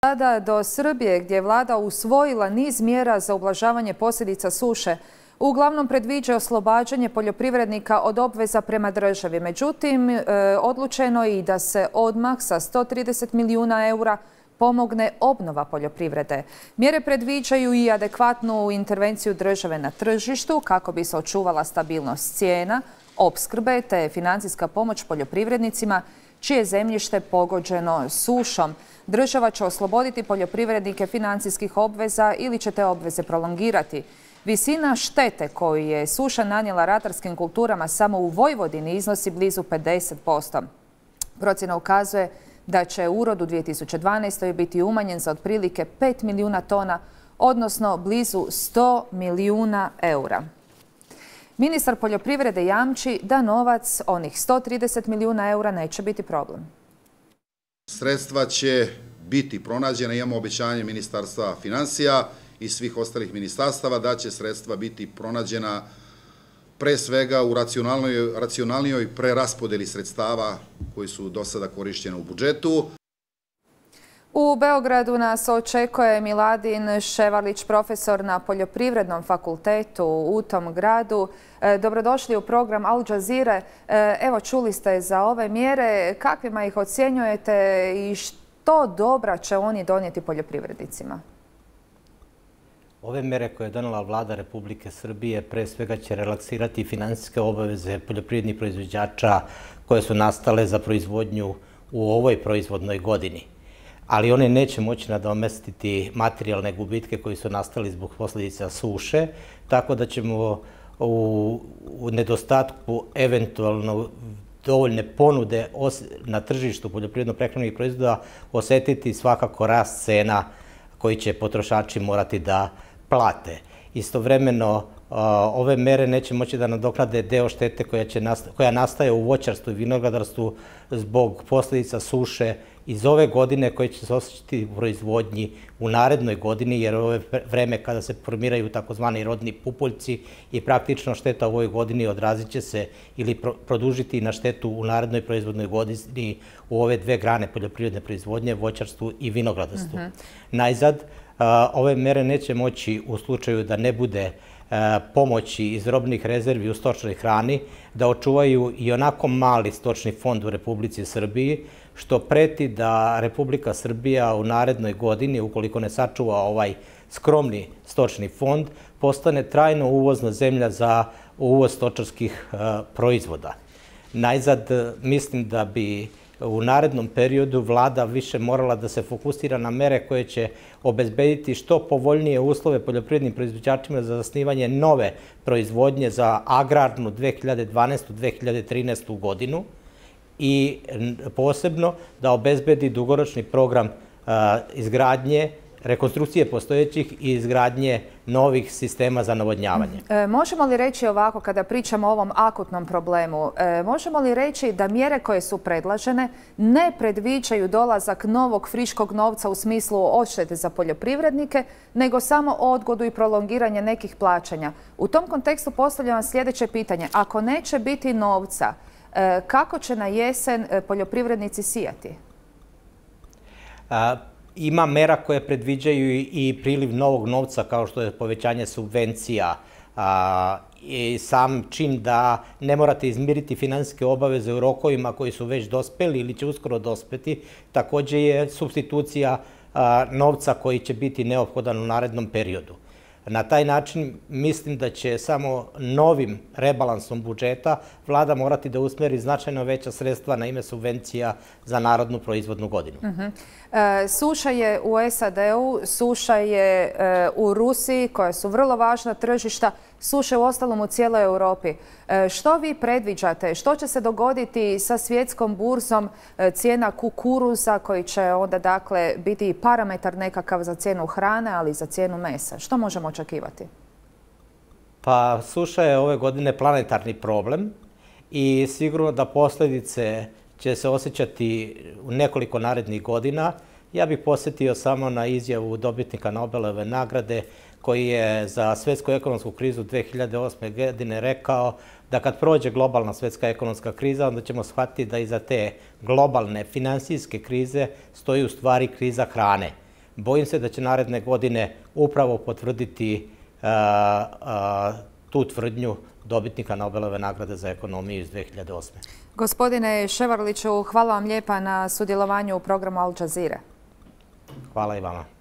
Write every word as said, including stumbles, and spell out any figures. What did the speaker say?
Sada do Srbije, gdje je vlada usvojila niz mjera za ublažavanje posljedica suše, uglavnom predviđa oslobađanje poljoprivrednika od obveza prema državi. Međutim, e, odlučeno je i da se odmah sa sto trideset milijuna eura pomogne obnova poljoprivrede. Mjere predviđaju i adekvatnu intervenciju države na tržištu kako bi se očuvala stabilnost cijena, opskrbe te financijska pomoć poljoprivrednicima čije je zemljište pogođeno sušom. Država će osloboditi poljoprivrednike financijskih obveza ili će te obveze prolongirati. Visina štete koju je suša nanijela ratarskim kulturama samo u Vojvodini iznosi blizu pedeset posto. Procjena ukazuje da će urod u dvije tisuće dvanaestoj. biti umanjen za otprilike pet milijuna tona, odnosno blizu sto milijuna eura. Ministar poljoprivrede jamči da novac, onih sto trideset milijuna eura, neće biti problem. Sredstva će biti pronađena, imamo obećanje Ministarstva financija i svih ostalih ministarstava da će sredstva biti pronađena pre svega u racionalnijoj preraspodeli sredstava koji su do sada korišćene u budžetu. U Beogradu nas očekuje Miladin Ševarlić, profesor na Poljoprivrednom fakultetu u tom gradu. Dobrodošli u program Al Jazeere. Evo, čuli ste za ove mjere. Kakvima ih ocjenjujete i što dobra će oni donijeti poljoprivrednicima? Ove mere koje je donela vlada Republike Srbije pre svega će relaksirati finansijske obaveze poljoprivrednih proizvođača koje su nastale za proizvodnju u ovoj proizvodnoj godini. Ali one neće moći nadomestiti materijalne gubitke koji su nastali zbog posljedica suše, tako da ćemo u, u nedostatku eventualno dovoljne ponude na tržištu poljoprivredno-prehrambenih proizvoda osetiti svakako rast cena koji će potrošači morati da plate. Istovremeno, ove mere neće moći da nadoknade deo štete koja, će nasta, koja nastaje u voćarstvu i vinogradarstvu zbog posljedica suše iz ove godine koje će se osjećati u proizvodnji u narednoj godini, jer ovo je vreme kada se formiraju takozvani rodni pupoljci i praktično šteta u ovoj godini odrazit će se ili pro, produžiti na štetu u narednoj proizvodnoj godini u ove dve grane poljoprivredne proizvodnje, voćarstvu i vinogradarstvu. Mm-hmm. Najzad, ove mere neće moći u slučaju da ne bude pomoći iz robnih rezervi u stočnoj hrani, da očuvaju i onako mali stočni fond u Republici Srbiji, što preti da Republika Srbija u narednoj godini, ukoliko ne sačuva ovaj skromni stočni fond, postane trajno uvozna zemlja za uvoz stočarskih proizvoda. Najzad, mislim da bi u narednom periodu vlada više morala da se fokusira na mere koje će obezbediti što povoljnije uslove poljoprivrednim proizvođačima za zasnivanje nove proizvodnje za agrarnu dve hiljade dvanaestu do dve hiljade trinaestu. godinu i posebno da obezbedi dugoročni program a, izgradnje, rekonstrukcije postojećih i izgradnje novih sistema za navodnjavanje. E, možemo li reći ovako, kada pričamo o ovom akutnom problemu, e, možemo li reći da mjere koje su predlažene ne predviđaju dolazak novog friškog novca u smislu odštete za poljoprivrednike, nego samo odgodu i prolongiranje nekih plaćanja? U tom kontekstu postavljam vam sljedeće pitanje. Ako neće biti novca, e, kako će na jesen poljoprivrednici sijati? A, Ima mera koje predviđaju i priliv novog novca, kao što je povećanje subvencija a, i sam čin da ne morate izmiriti finansijske obaveze u rokovima koji su već dospeli ili će uskoro dospeti. Također je supstitucija a, novca koji će biti neophodan u narednom periodu. Na taj način mislim da će samo novim rebalansom budžeta vlada morati da usmeri značajno veća sredstva na ime subvencija za narodnu proizvodnu godinu. Uh-huh. e, suša je u S A D-u, suša je e, u Rusiji, koja su vrlo važna tržišta, suše u ostalom u cijeloj Europi. E, što vi predviđate? Što će se dogoditi sa svjetskom burzom e, cijena kukuruza koji će onda dakle biti parametar nekakav za cijenu hrane, ali i za cijenu mesa? Što možemo očekivati? Pa suša je ove godine planetarni problem i sigurno da posljedice će se osjećati u nekoliko narednih godina. Ja bih posjetio samo na izjavu dobitnika Nobelove nagrade koji je za svjetsku ekonomsku krizu dve hiljade osme. godine rekao da kad prođe globalna svjetska ekonomska kriza, onda ćemo shvatiti da iza te globalne finansijske krize stoji u stvari kriza hrane. bojim se da će naredne godine upravo potvrditi tu tvrdnju dobitnika Nobelove nagrade za ekonomiju iz dve hiljade osme. Gospodine Ševarliću, hvala vam lijepa na sudjelovanju u programu Al Jazeera. Hvala i vama.